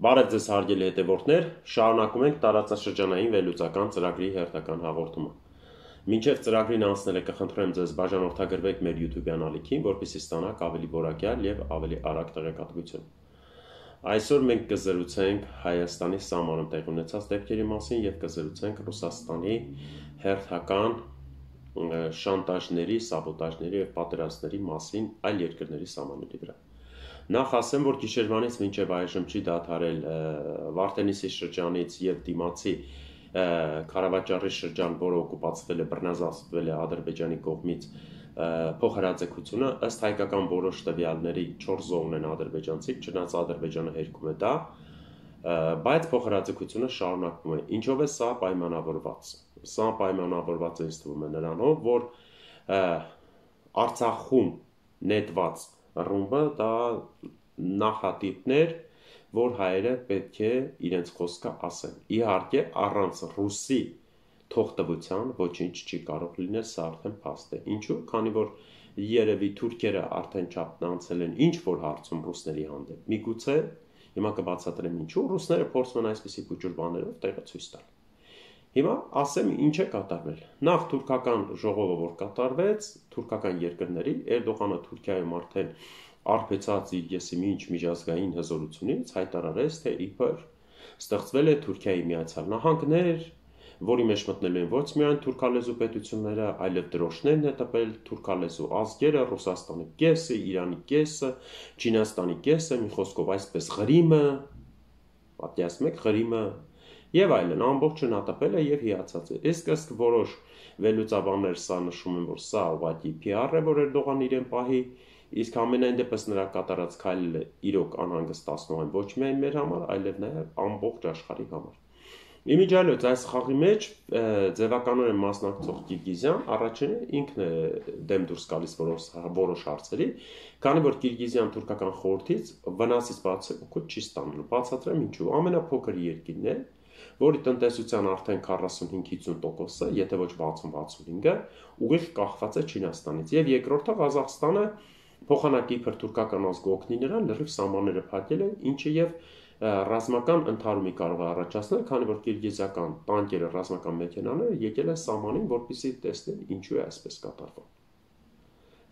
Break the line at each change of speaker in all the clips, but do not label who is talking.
Բարև ձեզ հարգելի հետևորդներ, շարունակում ենք տարածաշրջանային վերլուծական ծրագրի հերթական հաղորդումը։ Մինչև ծրագրին անցնելը կխնդրեմ ձեզ բաժանորդագրվեք մեր YouTube-յան ալիքին, որպեսզի ստանաք ավելի որակյալ եւ ավելի արագ տեղեկատվություն։ Այսօր մենք կզրուցենք Հայաստանի սահմանում տեղի ունեցած դեպքերի մասին եւ կզրուցենք Ռուսաստանի հերթական շանտաժների, սաբոտաժների եւ պատերազմների մասին այլ երկրների սահմանների վրա։ Նախ ասեմ, որ գիշերվանից մինչև այժմ չի դադարել Վարդենիսի շրջանից եւ դիմացի Քարավաճառի շրջան, որը օկուպացվել է, բռնազավթվել է Ադրբեջանի կողմից փոխհրաձգությունը, ըստ հայկական որոշ տվյալների 4 զոհն են ադրբեջանցի, չնայած Ադրբեջանը հերքում է դա, բայց փոխհրաձգությունը շարունակվում է։ Ինչով է սա պայմանավորված։ Սա պայմանավորված է ինձ թվում է նրանով, որ Արցախում նետված ռումբը դա նախատիպներ, որ հայերը պետք է իրենց խոսքը ասեն։ Իհարկե, առանց ռուսի թողտվության ոչինչ չի կարող լինել, սա արդեն փաստ է։ Ինչու՞, քանի որ երևի թուրքերը արդեն չափն անցել են ինչ որ հարցում ռուսների հանդեպ։ Միգուցե հիմա կբացատրեմ ինչու ռուսները փորձում են այսպիսի փոճուր բաներով տեղը ցույց տալ։ Հիմա ասեմ ինչ է կատարվել։ Նախ թուրքական ժողովը որ կատարվեց, թուրքական երկրների Էրդողանը Թուրքիայում արդեն արբեցած իր եսիմինչ միջազգային հզորությունից հայտարարեց, թե իբր ստեղծվել է Թուրքիայի Միացյալ Նահանգներ, որի մեջ մտնելու են ոչ միայն թուրքալեզու պետությունները, այլև դրոշներն է տպել թուրքալեզու ազգերը, Ռուսաստանի կեսը, Իրանի կեսը, Չինաստանի կեսը, մի խոսքով այսպես Ղրիմը, պատկերացնում եք Ղրիմը եւ այլն, ամբողջը նա տպել է եւ հիացած է։ Իսկ որոշ վերլուծաբաններ սա նշում են, որ սա ուղղակի PR է, որ Էրդողան իրեն պահի, իսկ ամենայն դեպս նրա կատարած քայլը իրոք անհանգստացնող են ոչ միայն մեր համար, այլև նաեւ ամբողջ աշխարհի համար։ Իմիջիալոց այս խաղի մեջ ձևականորեն մասնակցող Կիրգիզյան առաջինը ինքն է դեմ դուրս գալիս որոշ հարցերի, քանի որ Կիրգիզյան թուրքական խորհրդից վնասից բացի օգուտ չի ստանալու։ Բացատրեմ ինչու։ Ամենափոքր երկիրն է, որի տնտեսության արդեն 45-50%-ը, եթե ոչ 60-65-ը, ուղիղ կախված է Չինաստանից, եւ երկրորդը Ղազախստանը փոխանակի իբր թուրքական ազգը օգնի նրան լրիվ սահմանները փակել են, ինչը եւ ռազմական ընդհարումի կարող է առաջացնել, քանի որ կիրգիզական տանկերը, ռազմական մեքենաները եկել են սահմանին, որպեսզի տեսնեն ինչու է այսպես կատարվում։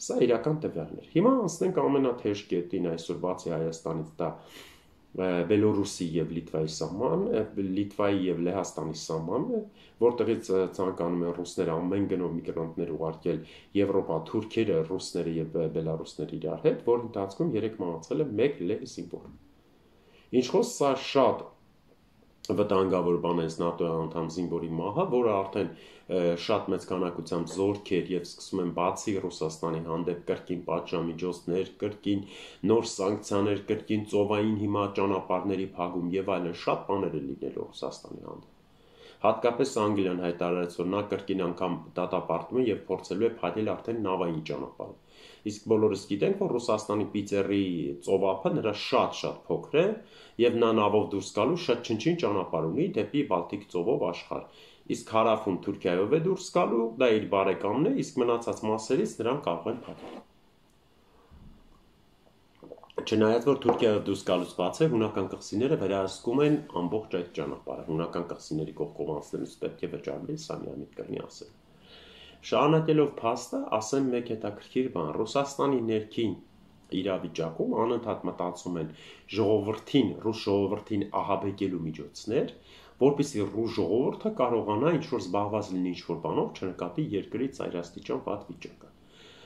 Սա իրական տվյալներ։ Հիմա անցնենք ամենաթեժ կետին այսօր բացի Հայաստանից, դա Բելորուսի եւ Լիտվայի սահման, Լիտվայի եւ Լեհաստանի սահմանն է, որտեղից ցանկանում են ռուսները ամեն գնով միգրանտներ ուղարկել Եվրոպա, թուրքերը, ռուսները եւ բելարուսները իրար հետ, որ ընթացքում 3 մահացել է 1 լե զինվոր։ Ինչ խոսք սա շատ վտանգավոր բան է ՆԱՏՕ-ի անդամ զինվորի մահը, որը արդեն շատ մեծ քանակությամբ զորքեր եւ սկսում են բացի Ռուսաստանի հանդեպ կրկին պատժամիջոցներ, կրկին նոր սանկցիաներ, կրկին ծովային հիմա ճանապարհների փակում եւ այլն շատ բաներ է լինելու Ռուսաստանի հանդեպ։ Հատկապես Անգլիան հայտարարեց, որ նա կրկին անգամ դատապարտում է եւ փորձելու է փակել արդեն նավային ճանապարհը։ Իսկ բոլորս գիտենք, որ Ռուսաստանի Պիծերի ծովափը նրա շատ փոքր է եւ նա նավով դուրս գալու շատ չնչին ճանապարհ ունի դեպի Բալտիկ ծովով աշխարհ։ Իսկ հարավում Թուրքիայով է դուրս գալու, դա իր բարեկամն է, իսկ մնացած մասերից նրան կարող են փակել։ Չնայած որ Թուրքիայով դուրս գալուց բացի հունական կղզիները վերահսկում են ամբողջ այդ ճանապարհը, հունական կղզիների կողքով անցնելուց պետք է վճարվի, սա միամիտ կրնի ասել։ Շարունակելով փաստը, ասեմ մեկ հետաքրքիր բան։ Ռուսաստանի ներքին իրավիճակում անընդհատ մտածում են ռուս ժողովրդին ահաբեկելու միջոցներ, որպեսզի ռուս ժողովուրդը կարողանա ինչ-որ զբաղված լինի ինչ-որ բանով, չնկատի երկրի ծայրաստիճան վատ վիճակը։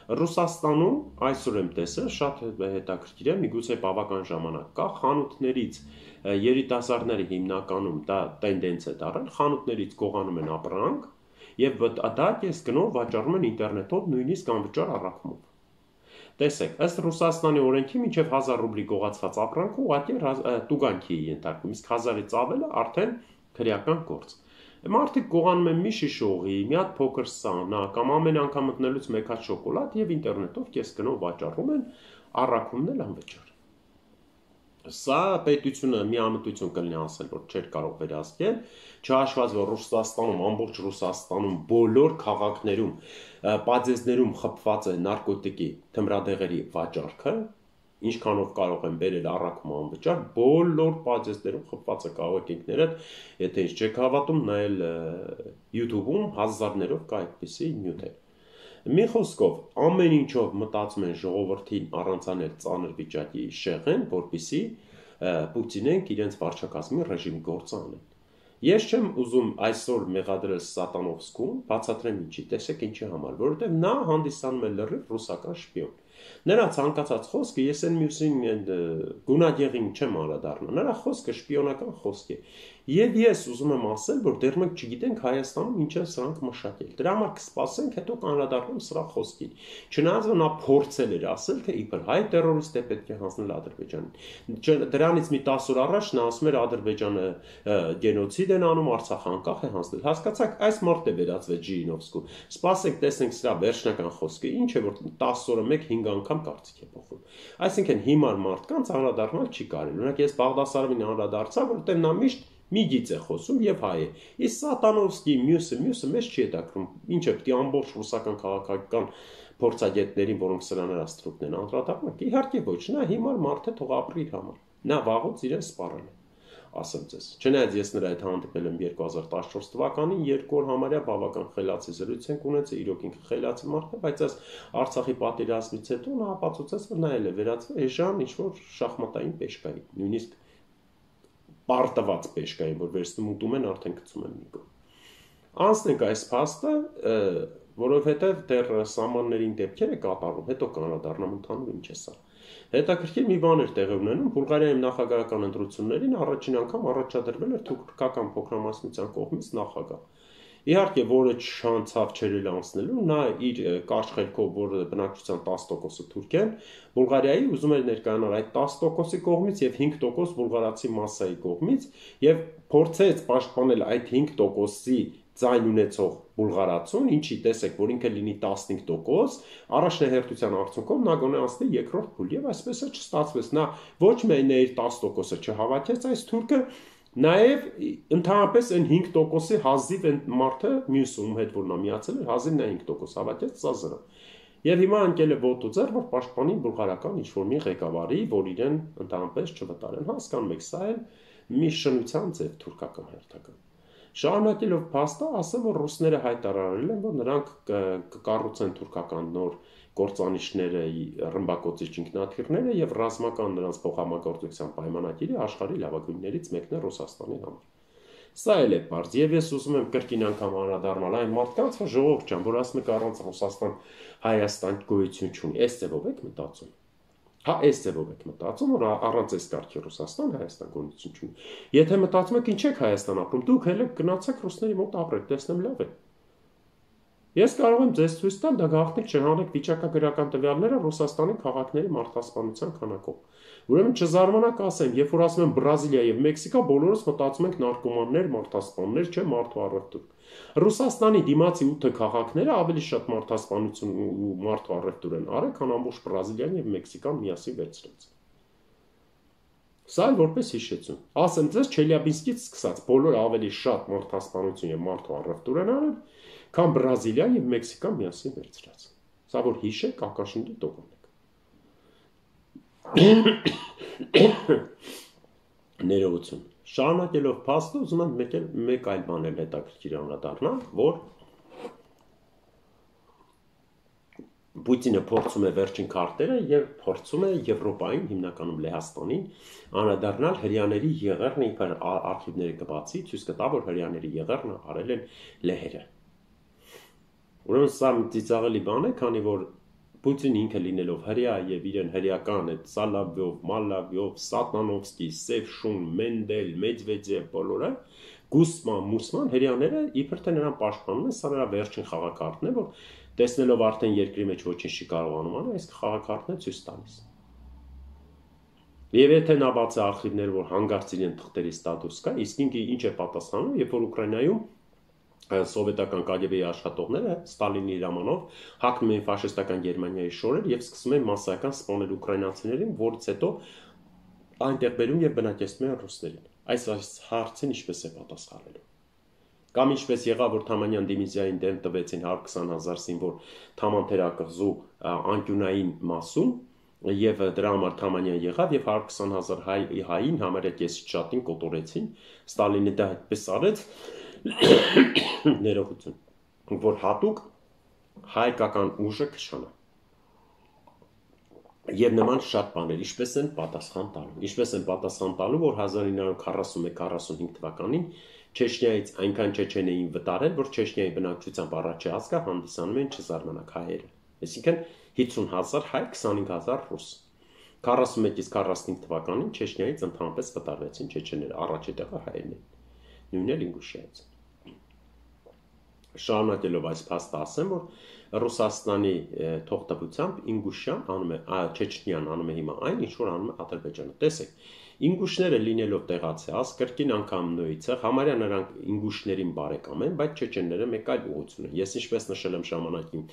Ռուսաստանում այսօր եմ տեսել, շատ հետաքրքիր է, միգուցե բավական ժամանակ կա, խանութներից երիտասարդները հիմնականում դա տենդենց է դառել, խանութներից գողանում են ապրանք եւ դա կես գնով վաճառում են ինտերնետով նույնիսկ անվճար առաքումով։ Տեսեք, ըստ Ռուսաստանի օրենքի մինչև 1000 ռուբլի գողացված ապրանքը ուղղակի տուգանքի է ենթարկվում, իսկ 1000-ից ավելը արդեն քրեական գործ։ Մարդիկ գողանում են մի շիշ օղի, մի հատ փոքր սանա կամ ամեն անգամ մտնելուց մեկ հատ շոկոլադ եւ ինտերնետով կես գնով վաճառում են, առաքումն էլ անվճար։ Սա պետությունը միամտություն կլինի ասել, որ չէր կարող վերահսկել, չհաշված որ Ռուսաստանում, ամբողջ Ռուսաստանում բոլոր քաղաքներում, պատեզներում խփված է նարկոտիկի թմրադեղերի վաճառքը, ինչքանով կարող են բերել առաքում անվճար, բոլոր պատժեստերում խփված է, կարող եք ինքներդ, եթե ինչ չեք հավատում, նայել YouTube-ում հազարներով կա այդպիսի նյութեր։ Մի խոսքով, ամեն ինչով մտածում են ժողովրդին առանցանել ծանր վիճակի շեղեն, որպեսզի Պուտինենք իրենց վարչակազմի ռեժիմի գործը անեն։ Ես չեմ ուզում այսօր մեղադրել Սատանովսկուն, բացատրեմ ինչի, տեսեք ինչի համար, որովհետև նա հանդիսանում է լրիվ ռուսական շպիոն։ Նրա ցանկացած խոսքը ես այն մյուսին գունագեղին չեմ անդրադառնա, նրա խոսքը շպիոնական խոսք է։ Եվ ես ուզում եմ ասել, որ դեռ մենք չգիտենք Հայաստանում ինչ են սրանք մշակել։ Դրա համար կսպասենք, հետո կանդրադառնամ սրա խոսքին։ Չնայած որ նա փորձել էր ասել, թե իբր հայ տերորիստ է պետք է հանձնել Ադրբեջանին։ Դրանից մի 10 օր առաջ նա ասում էր Ադրբեջանը գենոցիդ են անում, Արցախը անկախ է հանձնել։ Հասկացաք, այս մարդ է վերածվել Ժիրինովսկու։ Սպասենք, տեսնենք սրա վերջնական խոսքը, ինչ է որ 10 օրը մեկ 5 անգամ կարծիք է փոխում։ Այսինքն հիմար մարդկանց անդրադառնալ չի կարելի։ Օրինակ ես Բաղդասարովին անդրադարձա, որտեղ նա միշտ մի գիծ է խոսում եւ հայ է։ Իսկ Սատանովսկի մյուսը մեզ չի հետաքրում։ Ինչ է պետք է ամբողջ ռուսական քաղաքական փորձագետներին, որոնք սրաներ աստրուկն են անդրադառնալ։ Իհարկե ոչ, նա հիմար մարդ է, թող ապրի իր համար։ Նա վաղուց իրեն սպառել է, ասեմ ձեզ։ Չնայած ես նրա հետ հանդիպել եմ 2014 թվականին, 2 օր համարյա բավական խելացի զրույց ենք ունեցել, իրոք ինքը խելացի մարդ է, բայց այս Արցախի պատերազմից հետո նա ապացուցեց, որ նա էլ է վերածվել էժան ինչ-որ շախմատային պեշկայի, նույնիսկ պարտված պեշկային, որ վերցնում ուտում են, արդեն գցում են մի կողմ։ Անցնենք այս փաստը, որովհետև դեռ սահմաններին դեպքեր է կատարում, հետո կանադառնամ ընդհանուր ինչ է սա։ Հետաքրքիր մի բան էր տեղի ունենում, Բուլղարիայի նախագահական ընտրություններին առաջին անգամ առաջադրվել էր թուրքական փոքրամասնության կողմից նախագահ։ Իհարկե, որը չանցավ չերել անցնելու, նա իր կարճ խելքով, որ բնակչության 10%-ը թուրք են, Բուլղարիայի ուզում էր ներկայանալ այդ 10%-ի կողմից եւ 5% բուլղարացի մասսայի կողմից եւ փորձեց պաշտպանել այդ 5%-ի ձայն ունեցող բուլղարացուն, ինչի տեսեք, որ ինքը լինի 15%, առաջնահերթության արդյունքում նա գոնե անցնի երկրորդ փուլ եւ այսպես է չստացվեց։ Նա ոչ միայն իր 10%-ը չհավաքեց այս թուրքը, նաև ընդհանրապես այն 5%-ի հազիվ այն մարդը մյուսում հետ որ նա միացել էր, հազիվ նա 5% հավաքեց, սա զրո։ Եվ հիմա ընկել է ոտու ձեռ, որ պաշտպանի բուլղարական ինչ-որ մի ղեկավարի, որ իրեն ընդհանրապես չվտարեն։ Հասկանում եք, սա էլ մի շնության ձև թուրքական հերթական։ Շարունակելով փաստը, ասեմ, որ ռուսները հայտարարել են, որ նրանք կկառուցեն թուրքական նոր գործանիշները, ռմբակոծիչ ինքնաթիռները եւ ռազմական նրանց փոխհամագործակցության պայմանագիրը աշխարհի լավագույններից մեկն է Ռուսաստանի համար։ Սա էլ է բարձ, եւ ես ուզում եմ կրկին անգամ անդրադառնալ այն մարդկանց, որ ժողովուրդ ջան, որ ասում եք առանց Ռուսաստան Հայաստան գոյություն չունի, այս ձևով եք մտածում։ Հա, այս ձևով եք մտածում, որ առանց այս կարգի Ռուսաստան Հայաստան գոյություն չունի։ Եթե մտածում եք ինչ եք Հայաստան ապրում, դուք հենց գնացեք ռուսների մոտ ապրեք, տեսնեմ լավ է։ Ես կարող եմ ձեզ ցույց տալ, դա գաղտնիք չէ, հանեք վիճակագրական տվյալները Ռուսաստանի քաղաքների մարդասպանության քանակով։ Ուրեմն չզարմանաք ասեմ, երբ որ ասում եմ Բրազիլիա եւ Մեքսիկա, բոլորս մտածում ենք նարկոմաններ, մարդասպաններ, չէ, մարդու առևտուր։ Ռուսաստանի դիմացի 8 քաղաքները ավելի շատ մարդասպանություն ու մարդու առևտուր են արել, քան ամբողջ Բրազիլիան եւ Մեքսիկան միասին վերցրած։ Սա էլ որպես հիշեցում։ Ասեմ ձեզ, Չելյաբինսկից սկսած բոլոր ավելի շատ մարդասպանություն եւ մարդու առևտուր են արել, քան Բրազիլիան եւ Մեքսիկան միասին վերցրած։ Սա որ հիշեք, ակաշնչի տողանեք։ Ներողություն։ Շարունակելով փաստը, ուզում եմ մեկ այլ բան էլ հետաքրքիր անդրադառնալ, որ Պուտինը փորձում է վերջին քարտերը եւ փորձում է Եվրոպային, հիմնականում Լեհաստանին, անդրադառնալ հрьяաների եղեռն իբր արխիվները կբացի, ցույց կտա, որ հрьяաների եղեռն արել են լեհերը։ Ուրեմն սա ծիծաղելի բան է, քանի որ Պուտինը ինքը լինելով հрья եւ իրեն հрьяական այդ Սալավյով, Մալավյով, Սատանովսկի, Սևշուն, Մենդել, Մեդվեդև բոլորը Գուսման, Մուսման հрьяաները իբր թե նրան պաշտպանում են, սա նրա վերջին խաղակարտն է, որ տեսնելով արդեն երկրի մեջ ոչինչ չի կարողանում անել, այս խաղակարտն է ցույց տալիս։ Եվ եթե նա բացի արխիվներ, որ հանգարց իրեն թղթերի ստատուս կա, իսկ ինքը ինչ է պատասխանում, երբ որ Ուկրաինայում սովետական KGB-ի աշխատողները Ստալինի հրամանով հակնում էին ֆաշիստական Գերմանիայի շորեր եւ սկսում էին մասսայական սպանել ուկրաինացիներին, որից հետո այնտեղ բերում եւ բնակեցնում են ռուսներին։ Այս հարցին ինչպես է պատասխանելու։ Կամ ինչպես եղավ, որ Թամանյան դիվիզիային դեմ տվեցին 120,000 զինվոր Թաման թերակղզու անկյունային մասում, Եվ դրա համար Թամանյան եղավ եւ 120,000 հային համարյա կեսից շատին կոտորեցին, Ստալինը դա այդպես արեց, ներողություն, որ հատուկ հայկական ուժը քշանա։ Եվ նման շատ բաներ, ինչպես են պատասխան տալու, որ 1941-45 թվականին Չեչնիայից այնքան չեչեն էին վտարել, որ Չեչնիայի բնակչությամբ առաջի ազգը հանդիսանում են չզարմանակ հայերը։ Այսինքն 50,000 հայ, 25,000 ռուս։ 41-ից 45 թվականին Չեչնիայից ընդհանրապես վտարվեցին չեչեները, առաջի տեղը հայերն են, նույնն էլ Ինգուշիայից։ Շարունակելով այս փաստը ասեմ, որ Ռուսաստանի թողտվությամբ Ինգուշիան անում է, Չեչնիան անում է հիմա այն, ինչ որ անում է Ադրբեջանը։ Տեսեք, ինգուշները լինելով տեղացի ազգ, կրկին անգամ նույնից է, համարյա նրանք ինգուշներին բարեկամ են, բայց չեչենները մեկ այլ ուղղություն են։ Ես ինչպես նշել եմ ժամանակին,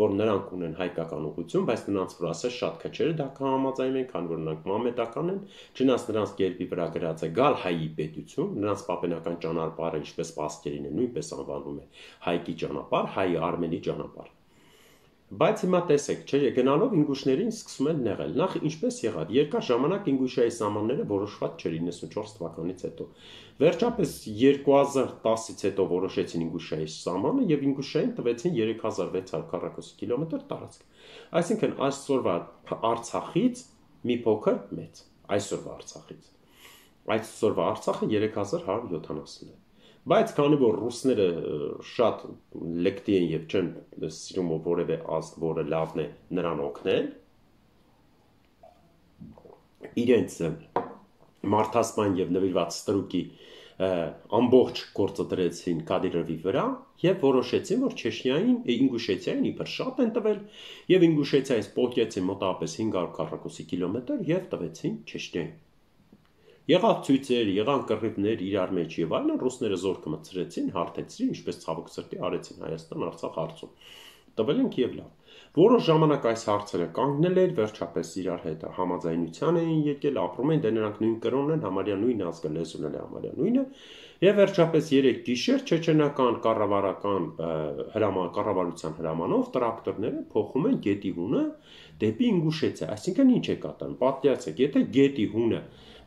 որ նրանք ունեն հայկական ուղղություն, բայց նրանց վրա ասես շատ քչերը դա կհամաձայնեն, քանի որ նրանք մամեդական են, չնայած նրանց գերբի վրա գրած է գալ հայի պետություն, նրանց պապենական ճանապարհը ինչպես պասկերին է, նույնպես անվանում է հայկի ճանապարհ, հայի արմենի ճանապարհ։ Բայց հիմա տեսեք, գնալով ինգուշներին սկսում են նեղել։ Նախ ինչպես եղավ, երկար ժամանակ Ինգուշիայի սահմանները որոշված չէր 94 թվականից հետո։ Վերջապես 2010-ից հետո որոշեցին Ինգուշիայի սահմանը եւ Ինգուշիային տվեցին 3600 քառակուսի կիլոմետր տարածք։ Այսինքն այսօրվա Արցախից մի փոքր մեծ, այսօրվա Արցախը 3170 է։ Բայց քանի որ ռուսները շատ լեկտի են եւ չեն սիրում որևէ ազգ, որը լավն է նրան օգնել, իրենց մարդասպան եւ նվիրված ստրուկի ամբողջ գործը դրեցին Կադիրովի վրա եւ որոշեցին, որ Չեչնիային, Ինգուշեցիային իբր շատ են տվել եւ Ինգուշեցիայից պոկեցին մոտավորապես 500 քառակուսի կիլոմետր եւ տվեցին Չեչնիային։ Եղավ ցույցեր, եղան կռիվներ իրար մեջ եւ այլն, ռուսները զորքը մտցրեցին, հարթեցրին, ինչպես ցավոք սրտի արեցին Հայաստան-Արցախ հարցում։ Տվել են եւ լավ։ Որոշ ժամանակ այս հարցերը կանգնել էր, վերջապես իրար հետ համաձայնության էին եկել, ապրում են, դե նրանք նույն կրոնն են, համարյա նույն ազգը, լեզուն էլ համարյա նույնը, եւ վերջապես 3 գիշեր չեչենական կառավարության հրամանով տրակտորները փոխում են գետի հունը դեպի Ինգուշեցիա, այսինքն ինչ է կատարում, պատկերացրեք, եթե գետի հունը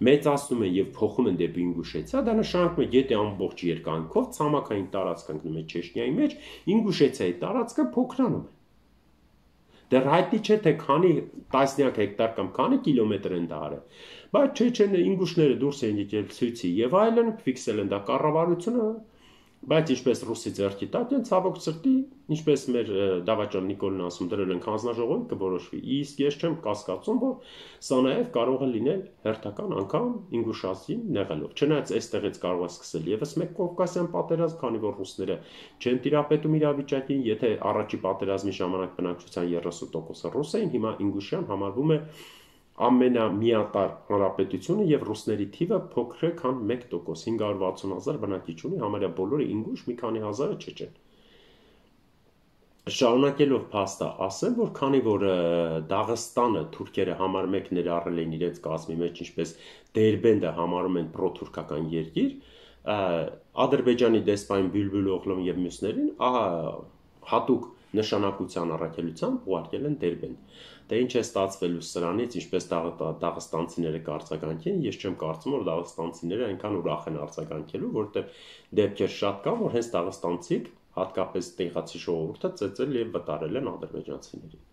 մեծացնում են եւ փոխում են դեպի Ինգուշեցիա, դա նշանակում է գետի ամբողջ երկայնքով ցամաքային տարածք ընկնում է Չեչնիայի մեջ, Ինգուշեցիայի տարածքը փոքրանում է։ Դեռ հայտնի չէ թե քանի տասնյակ հեկտար կամ քանի կիլոմետր են դա արել, բայց չեչենը ինգուշները դուրս են եկել ցույցի եւ այլն, ֆիքսել են դա կառավարությունը, բայց ինչպես ռուսի ձեռքի տակ են ցավոք սրտի, ինչպես մեր Դավաճան Նիկոլն ասում, դրել են հանձնաժողովի կորոշվի։ Իսկ ես չեմ կասկածում, որ սա նաեւ կարող է լինել հերթական անգամ Ինգուշասին նեղելով։ Չնայած այստեղից կարող է սկսել եւս մեկ Կովկասյան պատերազմ, քանի որ ռուսները չեն տիրապետում իրավիճակին, եթե առաջի պատերազմի ժամանակ բնակչության 30%-ը ռուս էին, հիմա Ինգուշիան համարվում է ամենամիատարր հանրապետությունը եւ ռուսների թիվը փոքր է, քան 1%, 560,000 բնակիչ ունի, համարյա բոլորը ինգուշ, մի քանի հազարը չեչեն։ Շարունակելով փաստը ասեմ, որ քանի որ Դաղստանը թուրքերը համար 1 ներառել են իրենց կազմի մեջ, ինչպես Դերբենդը համարում են պրոթուրքական երկիր, Ադրբեջանի դեսպան Բյուլբյուլ Օղլոն եւ մյուսներին հատուկ նշանակության առաքելությամբ ուղարկել են Դերբենդ։ Դե ինչ է ստացվելու սրանից, ինչպես դաղստանցիները կարձագանքեն, ես չեմ կարծում, որ դաղստանցիները այնքան ուրախ են արձագանքելու, որտեղ դեպքեր շատ կան, որ հենց դաղստանցիք, հատկապես տեղացի ժողովուրդը ծեծել եւ վտարել են ադրբեջանցիներին։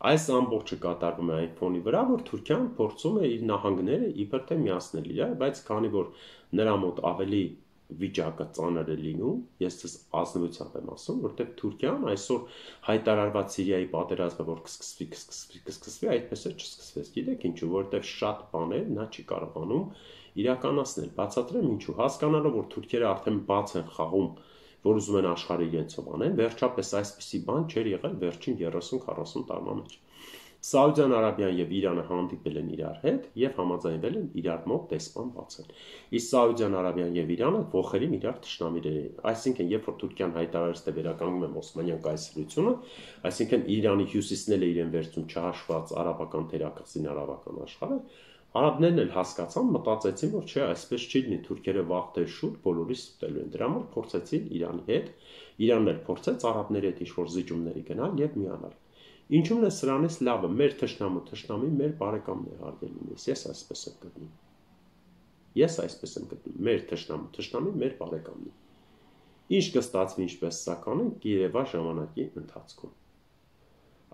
Այս ամբողջը կատարվում է այն ֆոնի վրա, որ Թուրքիան փորձում է իր նահանգները իբր թե միացնել իրար, բայց քանի որ նրա մոտ ավելի վիճակը ծանր է լինում, ես դες ազնվությամբ եմ ասում, որտեղ Թուրքիան այսօր հայտարարված Սիրիայի պատերազմը, որ կսկսվի, այդպես էլ չսկսվեց։ Գիտեք ինչու, որտեղ շատ բաներ նա չի կարողանում իրականացնել։ Բացատրեմ ինչու, հասկանալով, որ թուրքերը արդեն բաց են խաղում, որ ուզում են աշխարհը իրենցով անեն, վերջապես այսպիսի բան չէր եղել վերջին 30-40 տարվա մեջ։ Սաուդյան Արաբիան եւ Իրանը հանդիպել են իրար հետ եւ համաձայնվել են իրար մոտ դեսպան բացել։ Իսկ Սաուդյան Արաբիան եւ Իրանը ողերին իրար թշնամիներ են։ Այսինքն, երբ որ Թուրքիան հայտարարեց, թե վերականգնում է Օսմանյան կայսրությունը, այսինքն Իրանի հյուսիսն էլ է իրեն վերցում չհաշված արաբական թերակղզին արաբական աշխարհը, արաբներն էլ հասկացան, մտածեցին, որ չէ, այսպես չի լինի, թուրքերը վաղ թե շուտ բոլորիս ստելու են։ Դրա համար փորձեցին Իրանի հետ, Իրանն էլ փորձեց արաբների հետ ինչ-որ զիջումների գնալ եւ միանալ։ Ինչու՞մն է սրանից լավը, մեր թշնամի մեր բարեկամն է հարգելիներս, ես այսպես եմ գտնում։ Մեր թշնամի մեր բարեկամն է։ Ինչ կստացվի, ինչպես սա կանենք երևա ժամանակի ընթացքում։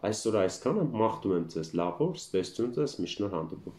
Այսօր այսքանը, մաղթում եմ ձեզ լավ օր, ստեսություն ձեզ, մի շնորհ հանդիպում։